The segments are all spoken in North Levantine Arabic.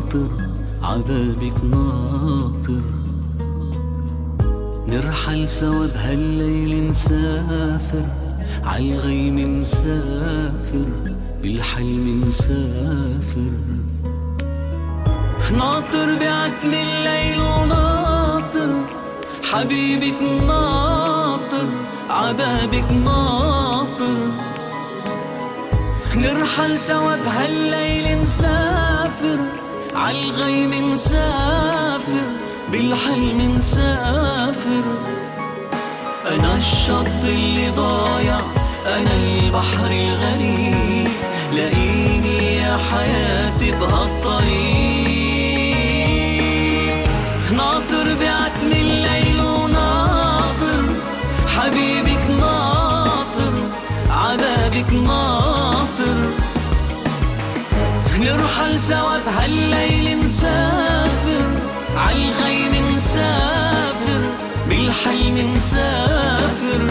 ناطر عبابك ناطر، نرحل سوا بهالليل نسافر، عالغيم مسافر، بالحلم مسافر. ناطر بعتم الليل وناطر حبيبك ناطر عبابك ناطر، نرحل سوا بهالليل نسافر، عالغيم مسافر، بالحلم مسافر. أنا الشط اللي ضايع، أنا البحر الغريب، لاقيني يا حياتي بهالطريق. ناطر بعتم الليل وناطر حبيبك ناطر عبابك ناطر، نرحل سوا بهالليل نسافر، عالغيم مسافر، بالحلم مسافر.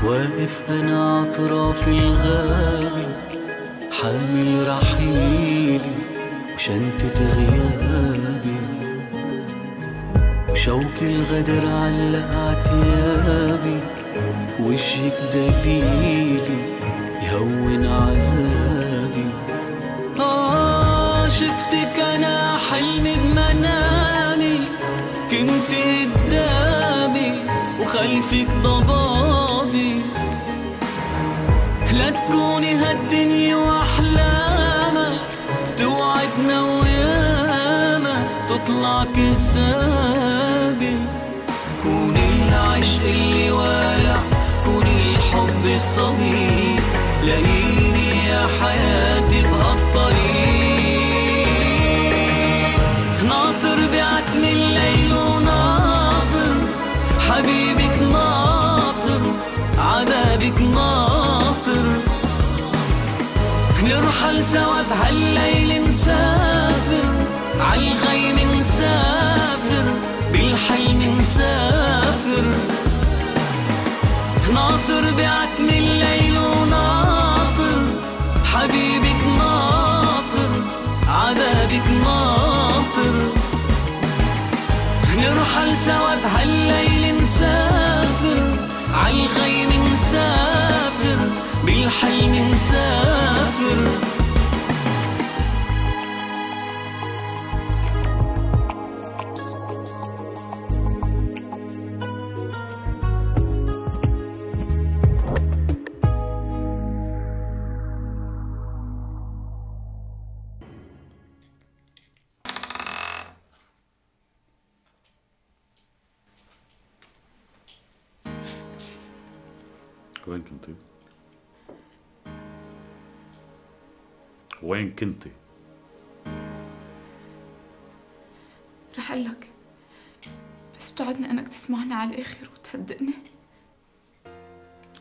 واقف أنا عطراف الغابة، حامل رحيلي وشنطة غيابي، وشوك الغدر علق عتيابي، وجهك دليلي يهون عذابي. شفتك أنا حلمي بمنامي، كنت قدامي وخلفك ضبابي، لا تكوني هالدنيا واحلامك، توعدنا وياما تطلع كذابي. كوني العشق اللي والع، كوني الحب الصديق، لاقيني يا حياتي بهالطريق. ناطر بعتم الليل وناطر حبيبك ناطر عبابك ناطر، نرحل سوا بهالليل نسافر، عالغيم مسافر، بالحلم مسافر. ناطر بعتم الليل وناطر حبيبك ناطر عبابك ناطر، نرحل سوا بهالليل نسافر، عالغيم مسافر، بالحلم مسافر. وين كنتي؟ وين كنتي؟ رح أقلك، بس بتوعدني أنك تسمعني على الآخر وتصدقني.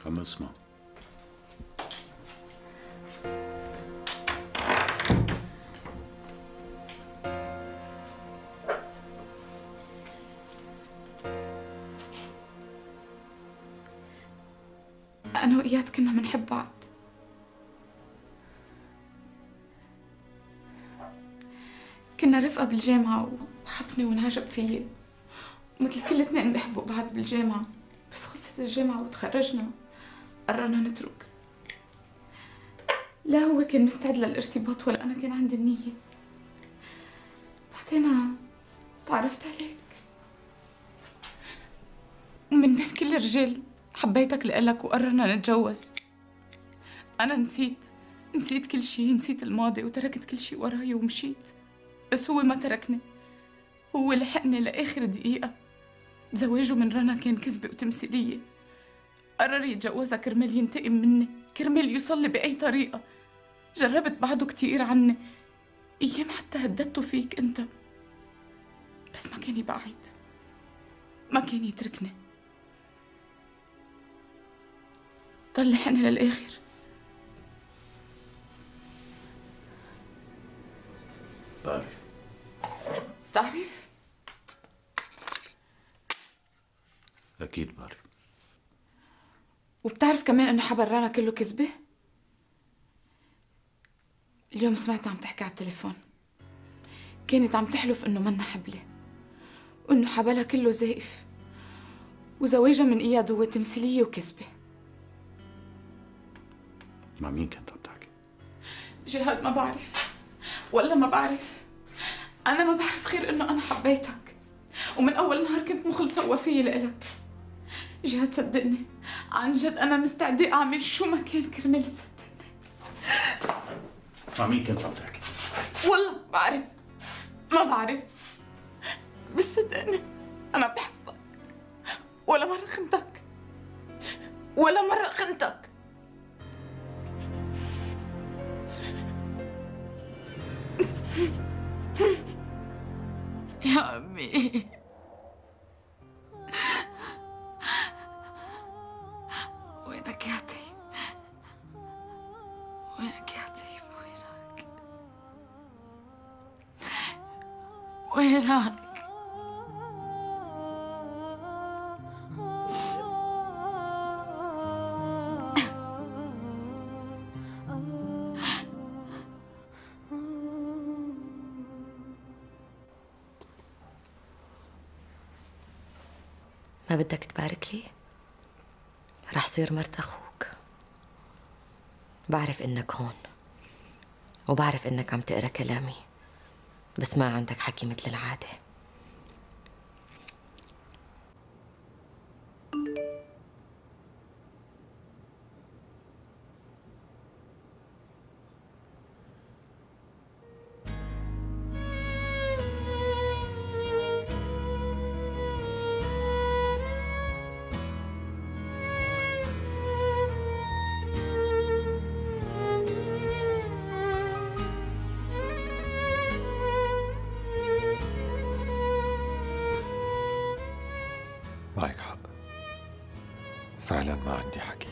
عم اسمع. أنا وإياد كنا منحب بعض، كنا رفقة بالجامعة وحبني وانعجب فيي مثل كل اثنين بيحبوا بعض بالجامعة. بس خلصت الجامعة وتخرجنا قررنا نترك. لا هو كان مستعد للارتباط ولا أنا كان عندي النية. بعدين تعرفت عليك، ومن بين كل الرجال حبيتك لإلك وقررنا نتجوز. أنا نسيت كل شيء، نسيت الماضي وتركت كل شيء وراي ومشيت. بس هو ما تركني، هو لحقني لآخر دقيقة. زواجه من رنا كان كذبة وتمثيلية. قرر يتجوزها كرمال ينتقم مني، كرمال يوصلي بأي طريقة. جربت بعده كتير عني، أيام حتى هددته فيك أنت، بس ما كان يبعد، ما كان يتركني. طلعني للآخر. بعرف. بتعرف؟ أكيد بعرف. وبتعرف كمان إنه حبرانا كله كذبة؟ اليوم سمعتها عم تحكي على التليفون، كانت عم تحلف إنه منا حبلة وإنه حبلها كله زائف وزواجها من إياد هو تمثيلية وكذبة. مع مين كنت عم تحكي؟ جهاد ما بعرف، ولا ما بعرف. أنا ما بعرف غير إنه أنا حبيتك، ومن أول نهار كنت مخلصة ووفية لإلك. جهاد صدقني، عن جد أنا مستعدة أعمل شو ما كان كرمال تصدقني. مع مين كنت عم تحكي؟ والله بعرف، ما بعرف، بس صدقني أنا بحبك. ولا مرة خنتك، ولا مرة خنتك. يا عمي، وينك يا طيب؟ وينك يا طيب؟ وينك؟ وينك؟ ما بدك تبارك لي؟ رح صير مرت أخوك. بعرف إنك هون وبعرف إنك عم تقرأ كلامي، بس ما عندك حكي مثل العادة. معك حق، فعلا ما عندي حكي.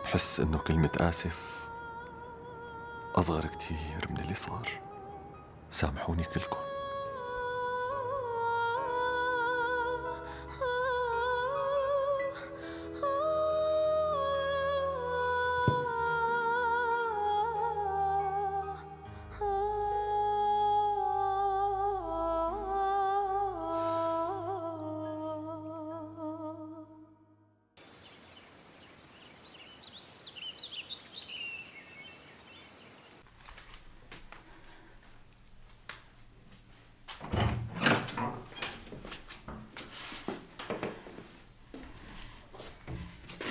بحس انه كلمة آسف أصغر كتير من اللي صار. سامحوني كلكم.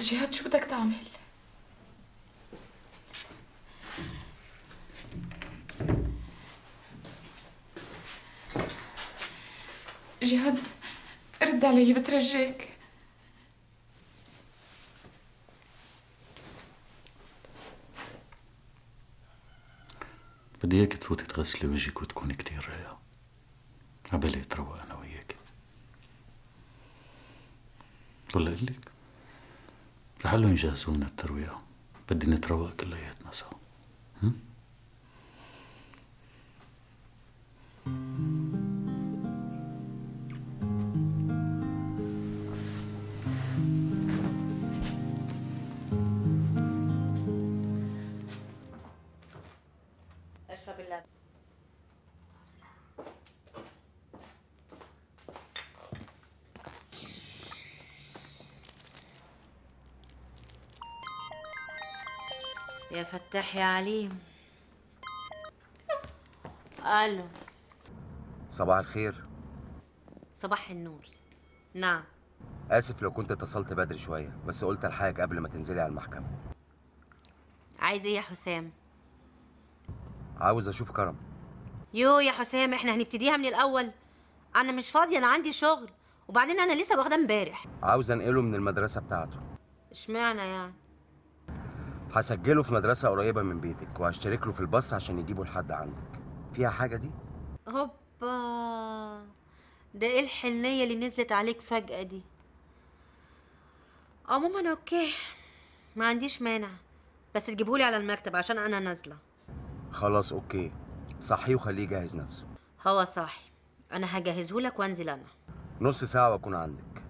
جهاد شو بدك تعمل؟ جهاد رد علي بترجاك. بدي اياك تفوتي تغسلي وجهك وتكوني كتير رايقة عبالي اتروق انا وياك. ولا اقول لك رح قلهم يجهزوا لنا الترويقة، بدي نتروق كلياتنا سوا. اشرب اللبن. يا فتاح يا عليم. الو. صباح الخير. صباح النور. نعم. آسف لو كنت اتصلت بدري شوية، بس قلت الحقك قبل ما تنزلي على المحكمة. عايز ايه يا حسام؟ عاوز اشوف كرم. يو يا حسام، احنا هنبتديها من الاول. انا مش فاضيه، انا عندي شغل، وبعدين انا لسه واخده امبارح. عاوز انقله من المدرسة بتاعته. اشمعنى يعني؟ هسجله في مدرسة قريبة من بيتك وهشترك له في الباص عشان يجيبه لحد عندك. فيها حاجة دي؟ هوبا، ده ايه الحنية اللي نزلت عليك فجأة دي؟ عموما اوكي، ما عنديش مانع، بس تجيبهولي على المكتب عشان انا نازلة. خلاص اوكي، صحيه وخليه يجهز نفسه. هو صاحي، انا هجهزهولك وانزل انا. نص ساعة واكون عندك.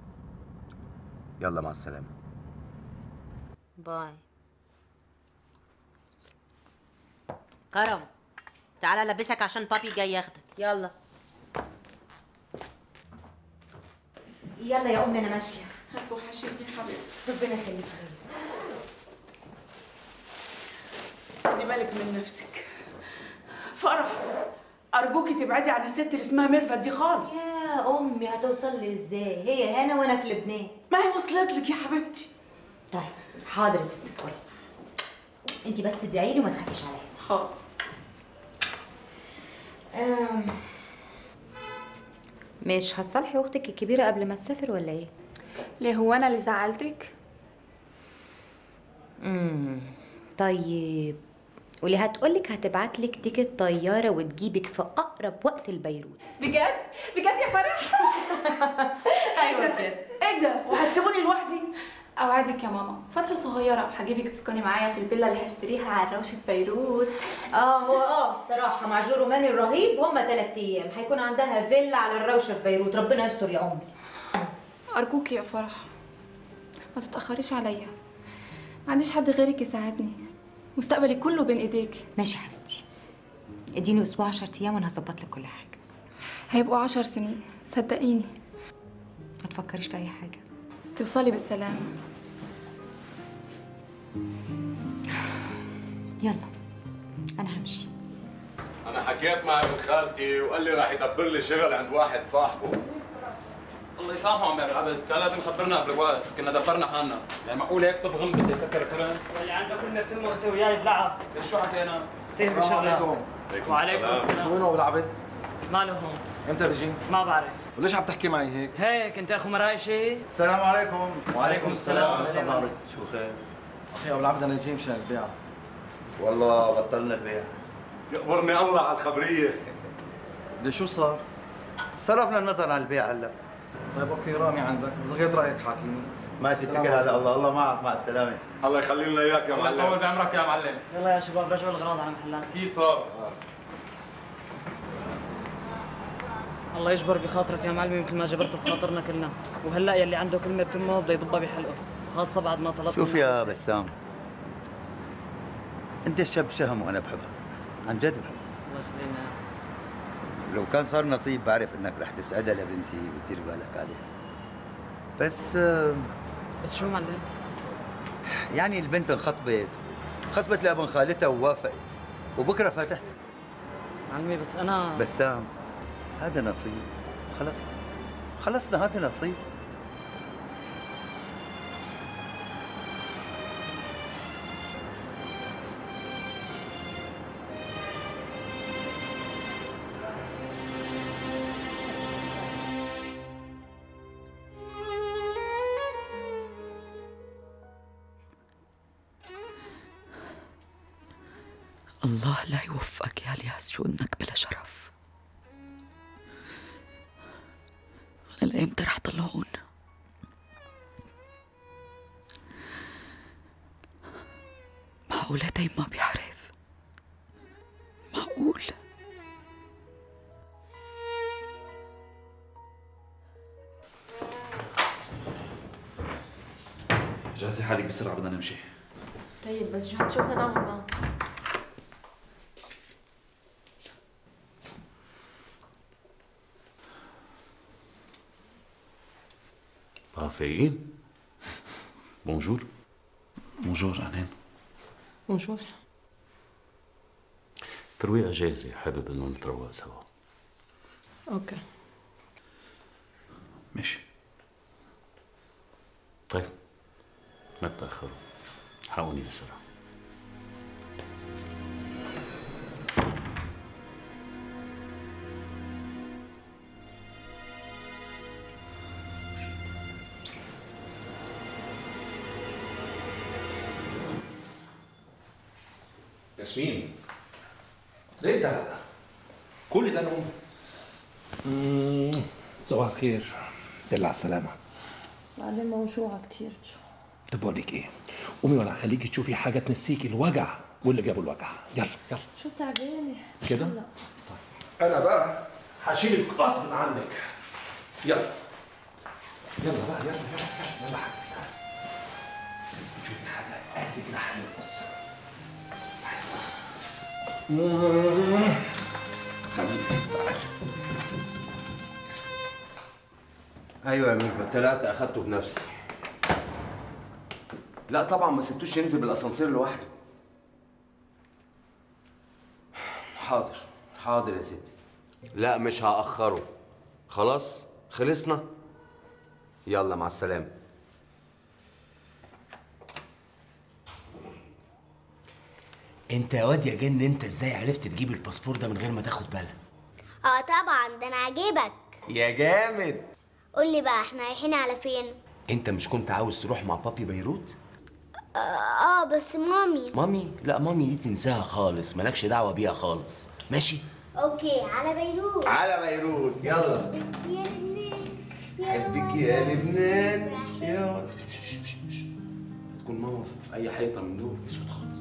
يلا مع السلامة. باي. كرم، تعالى لبسك عشان بابي جاي ياخدك. يلا يلا يا امي، انا ماشيه. هتوحشيني حبيبتي. ربنا يخليك. خدي بالك من نفسك. فرح، ارجوكي تبعدي عن الست اللي اسمها ميرفت دي خالص. يا امي هتوصل لي ازاي؟ هي هنا وانا في لبنان. ما هي وصلت لك يا حبيبتي. طيب حاضر يا ست الكل، انت بس ادعي لي وما تخافيش عليا. حاضر. مش هتصالحي اختك الكبيره قبل ما تسافر ولا ايه؟ ليه هو انا اللي زعلتك؟ طيب واللي هتقولك هتبعتلك تيكت طياره وتجيبك في اقرب وقت لبيروت. بجد؟ بجد يا فرح؟ ايوه كده. ايه ده؟ وهتسيبوني لوحدي؟ اوعدك يا ماما، فتره صغيره وهجيبك تسكني معايا في الفيلا اللي هشتريها على الروش في بيروت. هو صراحه مع جو روماني الرهيب هم 3 ايام هيكون عندها فيلا على الروشه في بيروت. ربنا يستر يا امي. ارجوكي يا فرح ما تتاخريش عليا، ما عنديش حد غيرك يساعدني، مستقبلي كله بين ايديك. ماشي يا حبيبتي، اديني اسبوع 10 ايام وانا هظبط لك كل حاجه. هيبقوا 10 سنين صدقيني. ما تفكريش في اي حاجه. توصلي بالسلامه. يلا انا همشي. أنا حكيت مع ابن خالتي وقال لي راح يدبر لي شغل عند واحد صاحبه. الله يسامحه عم العبد، كان لازم يخبرنا قبل وقت، كنا دبرنا حالنا، يعني معقول هيك طب غم بده يسكر الفرن؟ واللي عنده كلمة بتمه انت وياي بلعها. ليش شو حكينا؟ تهب بالشغلة. وعليكم السلام. شو وينه ابو العبد؟ ماله هون؟ امتى بيجي؟ ما بعرف. وليش عم تحكي معي هيك؟ هيك انت اخو مراي شيء؟ السلام عليكم. وعليكم السلام. ابو العبد شو خير؟ اخي ابو العبد انا جاي مشان البيع. والله بطلنا البيع. يقبرني الله على الخبرية. ليش شو صار؟ صرفنا النظر عن البيع هلا. طيب اوكي رامي عندك، بس غير رايك حاكيني. ما تتكل على الله، الله معك، مع السلامة. الله يخلي لنا اياك يا معلم. الله يطول بعمرك يا معلم. يلا يا شباب رجعوا الاغراض على محلات. اكيد صار. الله يجبر بخاطرك يا معلمي مثل ما جبرت بخاطرنا كلنا، وهلا يلي عنده كلمة بتمه بده يضبها بحلقه، وخاصة بعد ما طلبت. شوف يا بسام، انت شاب شهم وانا بحبك، عن جد بحبك. الله يخلينا. لو كان صار نصيب بعرف انك رح تسعدها لبنتي وتدير بالك عليها. بس شو معلم؟ يعني البنت خطبت لابن خالتها ووافقت، وبكره فاتحت. معلمي بس انا بسام، هذا نصيب، خلصنا هذا نصيب. الله لا يوفقك يا الياس، شو انك بلا شرف. لأيمتى رح طلعون؟ معقولة تيم ما بيعرف؟ معقول؟ جهزي حالك بسرعة بدنا نمشي. طيب بس جهاد شو بدنا نعمل معه؟ فايقين؟ بونجور. بونجور أهلين. بونجور. ترويقة جاهزة، حابب انه نتروق سوا. اوكي ماشي. طيب ما تتأخروا، حقوني بسرعة. ياسمين ليه ده هذا؟ كل ده نوم؟ صباح الخير، دل على السلامة. بعدين موجوعة كتير. طب بقول لك ايه؟ قومي وانا هخليكي تشوفي حاجة تنسيكي الوجع واللي جابوا الوجع، يلا يلا. شو تعبانة؟ كده؟ طيب أنا بقى هشيلك غصب عنك. يلا يلا بقى يلا يلا يلا حبيبي تعالي. تشوفي حاجة قد كده هنقص. حبيبي تعالى. ايوه يا ميرفت، طلعت اخدته بنفسي. لا طبعا ما سبتوش ينزل بالاسانسير لوحده. حاضر حاضر يا ستي. لا مش هاخره. خلاص خلصنا. يلا مع السلامه. انت يا واد يا جن، انت ازاي عرفت تجيب الباسبور ده من غير ما تاخد بالك؟ طبعا ده انا عاجبك. يا جامد. قول لي بقى احنا رايحين على فين؟ انت مش كنت عاوز تروح مع بابي بيروت؟ بس مامي. مامي؟ لا مامي دي تنساها خالص، مالكش دعوه بيها خالص، ماشي؟ اوكي على بيروت. على بيروت يلا. يا لبنان حبك يا لبنان يا تكون ماما في اي حيطه من دول اسود خالص.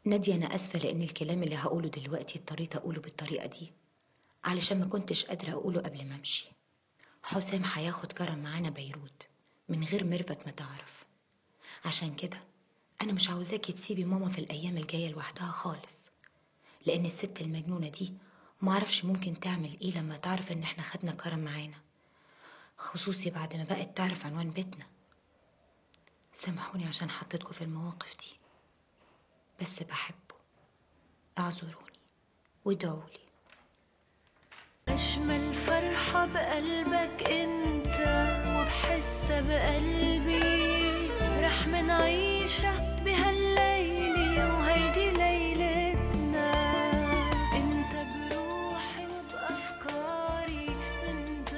نادية أنا آسفة لأن الكلام اللي هقوله دلوقتي اضطريت أقوله بالطريقة دي علشان ما كنتش قادرة أقوله قبل ما أمشي. حسام هياخد كرم معانا بيروت من غير ميرفت ما تعرف. عشان كده أنا مش عاوزاكي تسيبي ماما في الأيام الجاية لوحدها خالص، لأن الست المجنونة دي معرفش ممكن تعمل إيه لما تعرف إن إحنا خدنا كرم معانا، خصوصي بعد ما بقت تعرف عنوان بيتنا. سامحوني عشان حطيتكوا في المواقف دي، بس بحبه. اعذروني وادعولي. أجمل فرحة بقلبك أنت وبحسها بقلبي، رح منعيشها بهالليلة وهيدي ليلتنا. أنت بروحي وبأفكاري أنت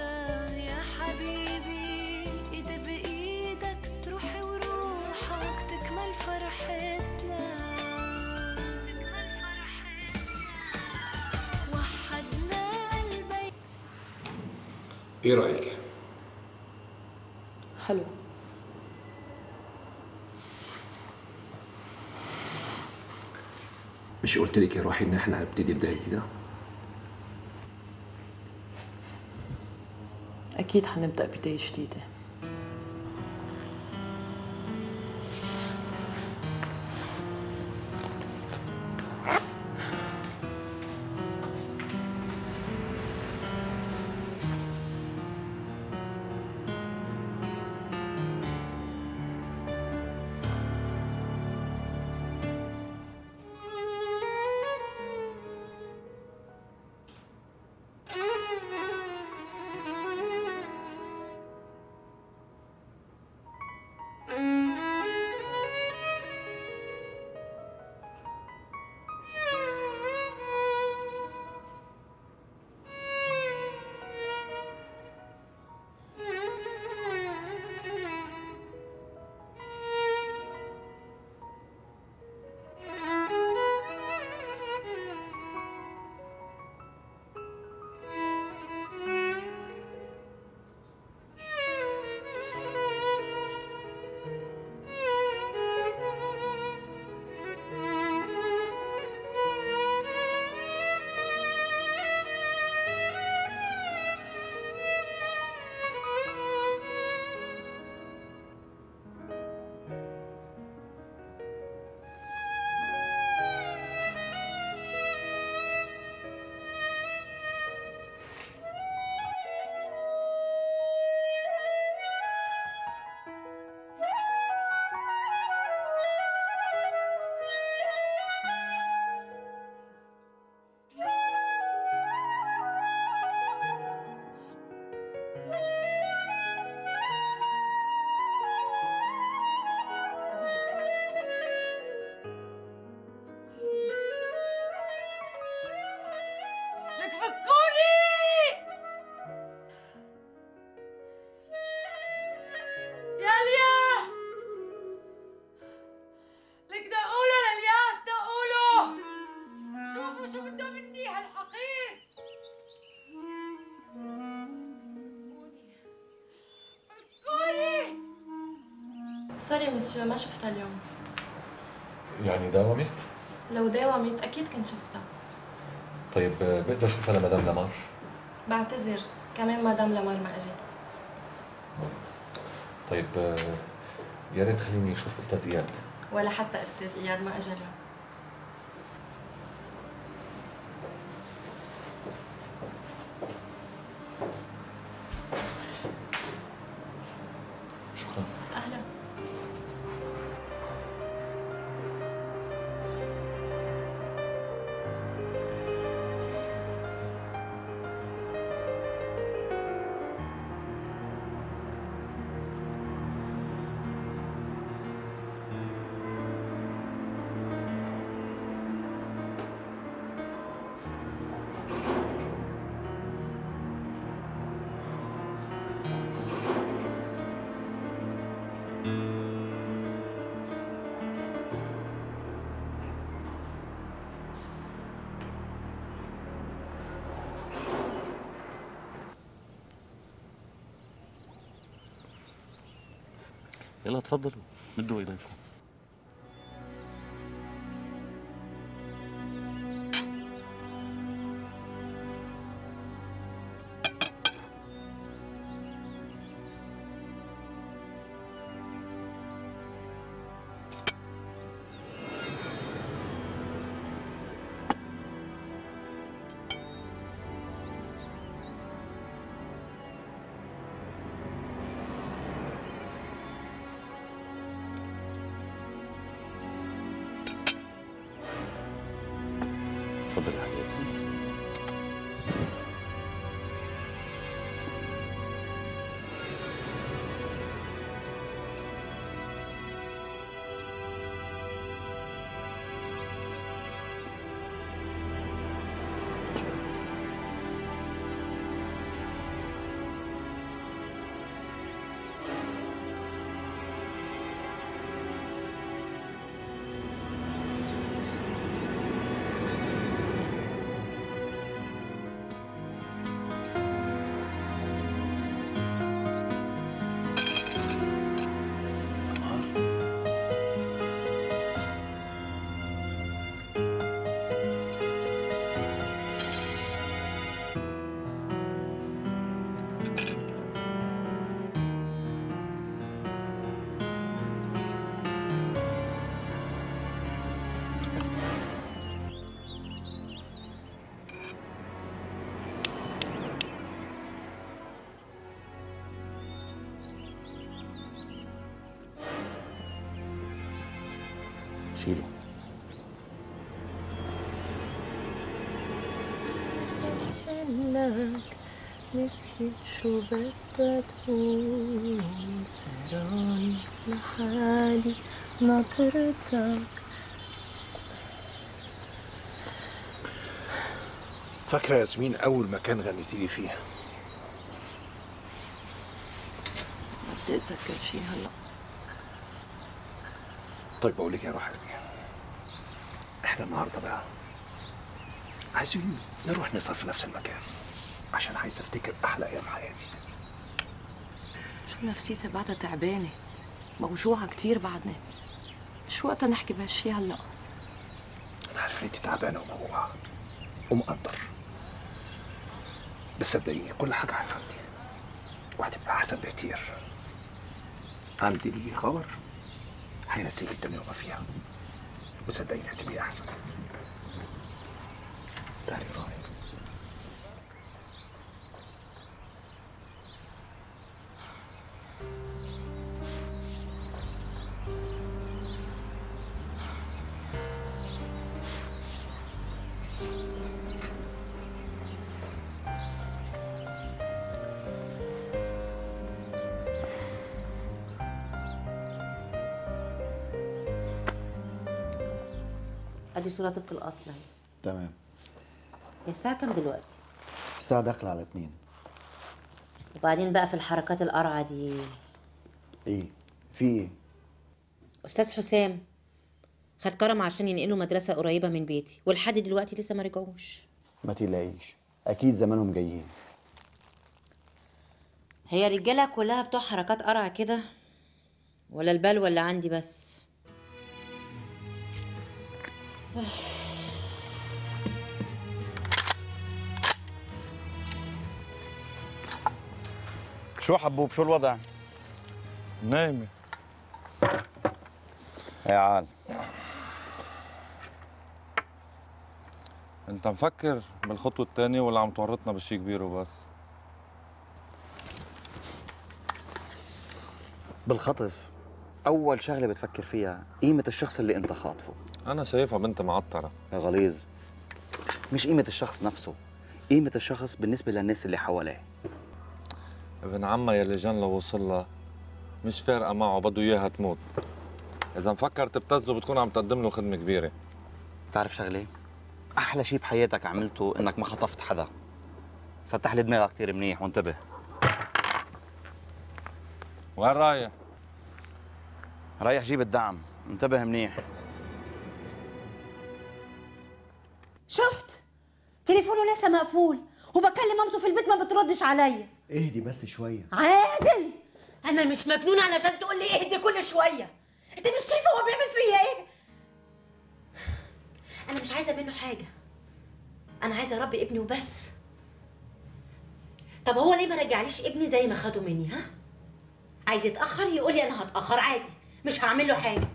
يا حبيبي، إيدي بإيدك روحي وروحك تكمل فرحتنا. ايه رايك؟ حلو. مش قلت لك يا روحي ان احنا هنبتدي بدايه جديده؟ اكيد حنبدا بدايه جديده. سوري مسيو، ما شفتها اليوم. يعني داومت؟ لو داومت أكيد كنت شفتها. طيب بقدر أشوفها لمدام لمار؟ بعتذر، كمان مدام لمار ما أجت. طيب يا ريت خليني أشوف أستاذ إياد. ولا حتى أستاذ إياد ما أجا اليوم. شكرا. أهلا. يلا تفضلوا مدوا ايديكم. تفضلي حبيبتي. شيله. لك نسيت شو بدها تقول، سهران لحالي ناطرتك. فاكرة ياسمين أول مكان غنيتي لي فيه؟ بدي أتذكر شي هلا. طيب بقول لك يا روح قلبي، احنا النهارده بقى عايزين نروح نسهر في نفس المكان عشان عايز افتكر احلى ايام حياتي. شو نفسيتي بعدها تعبانة، موجوعة كتير بعدني. شو وقتها نحكي بهالشي هلا؟ انا عارف ان انت تعبانه وموجوعه ومقدر، بس صدقيني كل حاجه هتعدي وهتبقى احسن بكتير. عندي ليكي خبر هينسيك الدنيا وما فيها، وصدقيني هتبقي احسن. تعالي روحي. ادي صورة طبق الاصل اهي. تمام. هي الساعة كام دلوقتي؟ الساعة داخلة على 2. وبعدين بقى في الحركات القرعة دي ايه؟ في ايه؟ استاذ حسام خد كرم عشان ينقلوا مدرسة قريبة من بيتي، ولحد دلوقتي لسه ما رجعوش. ما تقلقيش، اكيد زمانهم جايين. هي الرجالة كلها بتوع حركات قرعة كده، ولا البال ولا عندي بس. شو حبوب، شو الوضع؟ نايمة. يا عال، انت مفكر بالخطوة الثانية ولا عم تورطنا بشي كبير وبس؟ بالخطف أول شغلة بتفكر فيها قيمة الشخص اللي أنت خاطفه. أنا شايفها بنت معطرة. يا غليظ، مش قيمة الشخص نفسه، قيمة الشخص بالنسبة للناس اللي حواليه. ابن عمها يلي جن لو وصلها مش فارقة معه، بده إياها تموت. إذا مفكر تبتزه بتكون عم تقدم له خدمة كبيرة. بتعرف شغلة؟ أحلى شيء بحياتك عملته إنك ما خطفت حدا. فتح لي دماغك كثير منيح وانتبه. وين رايح؟ رايح جيب الدعم، انتبه منيح. شفت؟ تليفونه لسه مقفول وبكلم مامته في البيت ما بتردش عليا. اهدي بس شويه. عادل، انا مش مجنونه علشان تقول لي اهدي كل شويه. انت مش شايفه هو بيعمل فيا ايه؟ انا مش عايزه منه حاجه، انا عايزه اربي ابني وبس. طب هو ليه ما رجعليش ابني زي ما خده مني؟ ها؟ عايز يتاخر يقول لي انا هتاخر عادي، مش هعمل له حاجه.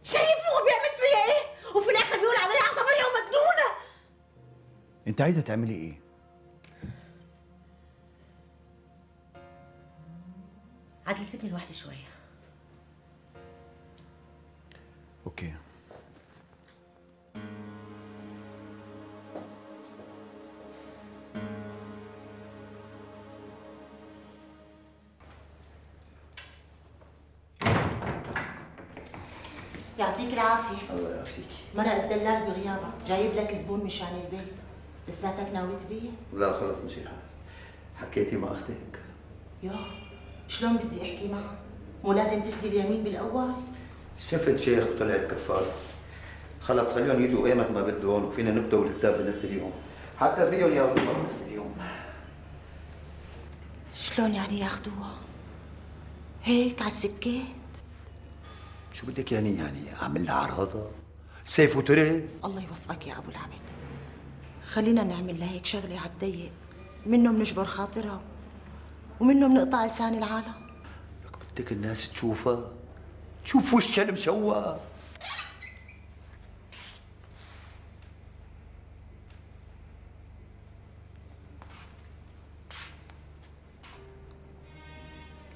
شايف هو بيعمل فيا ايه؟ وفي الاخر بيقول عليا عصبيه ومجنونه. انت عايزه تعملي ايه؟ عادل سيبني لوحدي شويه. اوكي. يعطيك العافيه. الله يعافيك. مرق الدلال بغيابك جايب لك زبون مشان البيت. لساتك ناوي تبيع؟ لا خلص مشي الحال. حكيتي مع اختك؟ يا شلون بدي احكي معها؟ مو لازم تفدي اليمين بالاول؟ شفت شيخ وطلعت كفاره. خلص خليهم يجوا ايمت ما بدهم وفينا نكتب الكتاب بنفس اليوم. حتى فيهم ياخذوها بنفس اليوم. شلون يعني ياخذوها؟ هيك على السكيت؟ شو بدك يعني اعمل لها عراضه؟ سيف وترس؟ الله يوفقك يا ابو العمد. خلينا نعمل لها هيك شغله على الضيق، منه بنجبر خاطرها ومنه بنقطع لسان العالم. لك بدك الناس تشوفها، تشوف وشها المشوه.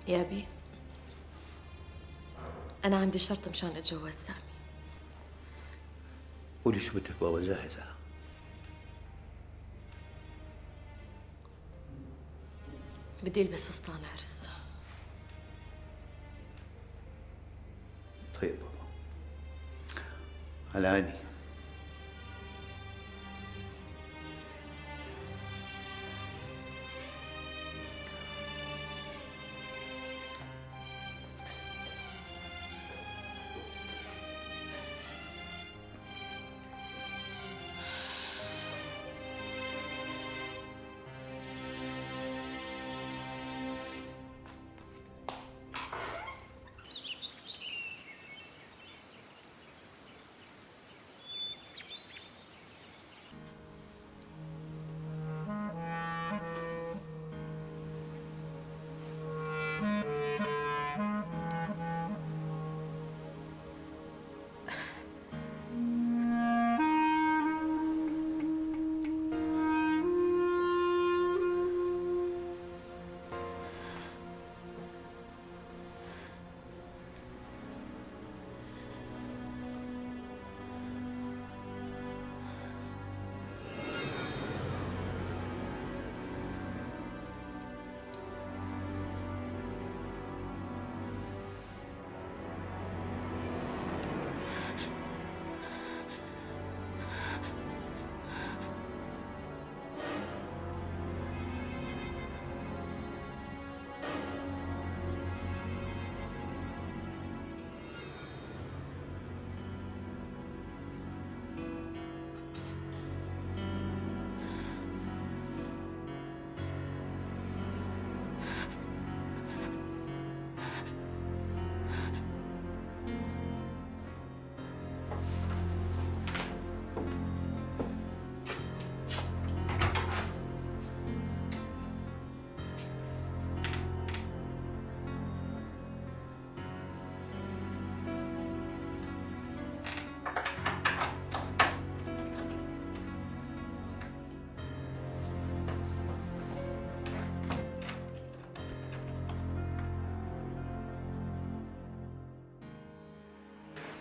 يا أبي، أنا عندي شرط مشان أتجوز سامي. قولي شو بدك بابا، جاهز أنا. بدي ألبس فستان عرس. طيب بابا، على عيني.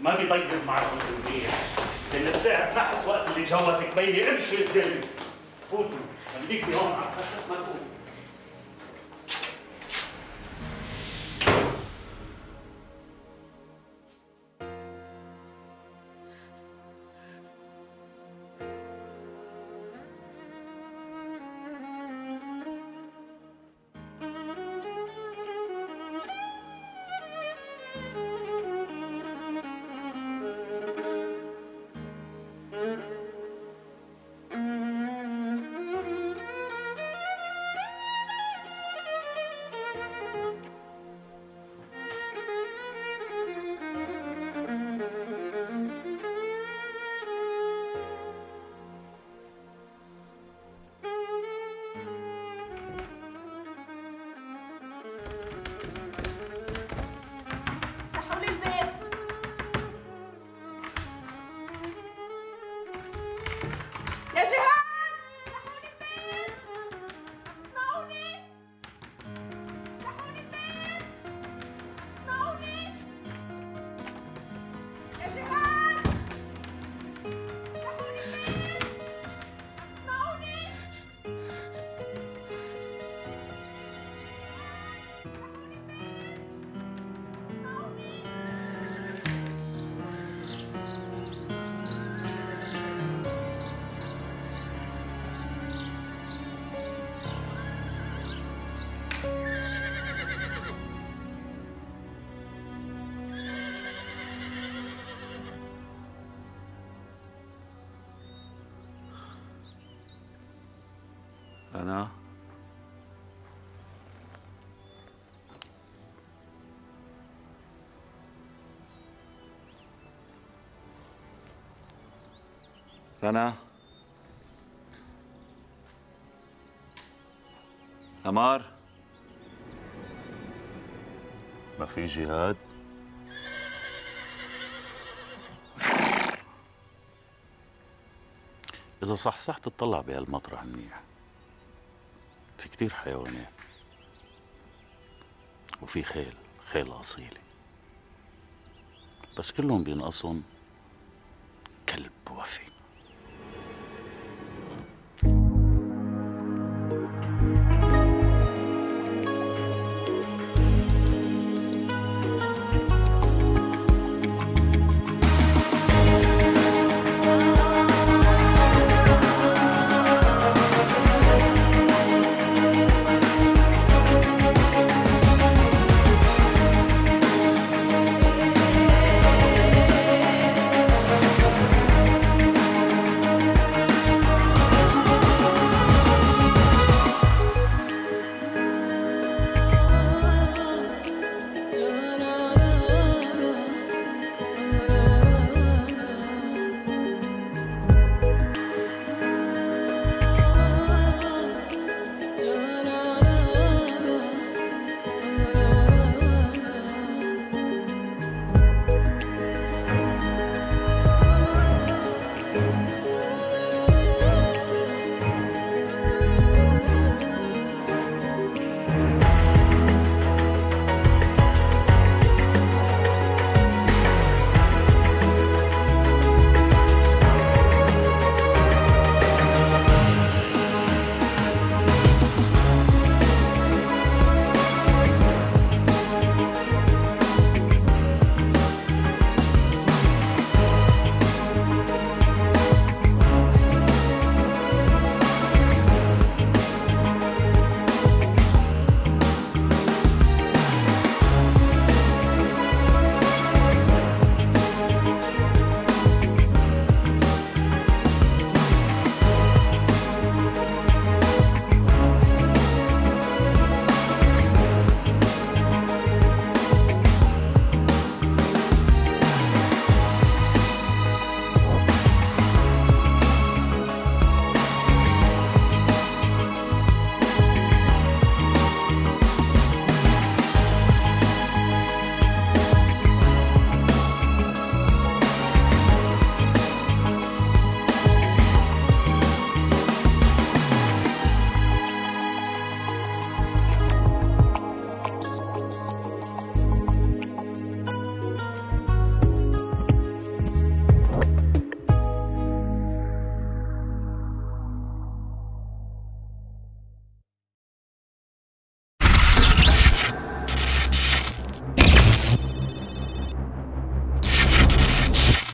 ما بيطيب معكم منيح. اللي بساعد نحس وقت اللي جوزك بيي امشي قدامي. فوتوا خليكي هون على الخشب ما تقومي. رنا رنا أمار ما في جهاد؟ إذا صحصحت تطلع بهالمطرح منيح. في كتير حيوانات وفي خيل أصيلة، بس كلهم بينقصهم كلب وفي.